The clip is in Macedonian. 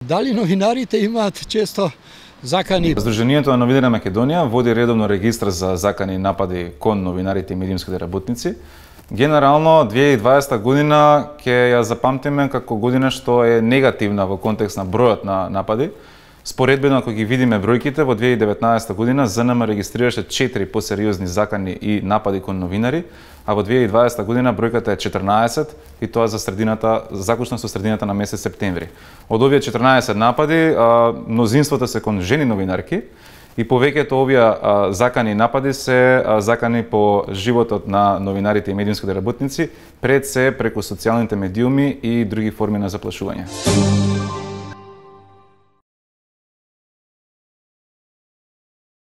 Дали новинарите имаат често закани? Сдруженијето на новинарите на Македонија води редовно регистар за закани и напади кон новинарите и медиумските работници. Генерално 2020 година ќе ја запамтиме како година што е негативна во контекст на бројот на напади. Споредбено, ако ги видиме бројките, во 2019 година ЗНМ регистрираше 4 посериозни закани и напади кон новинари, а во 2020 година бројката е 14 и тоа за средината, заклучно со средината на месец септември. Од овие 14 напади, мнозинството се кон жени новинарки и повеќето овие закани и напади се закани по животот на новинарите и медиумските работници, пред се преку социјалните медиуми и други форми на заплашување.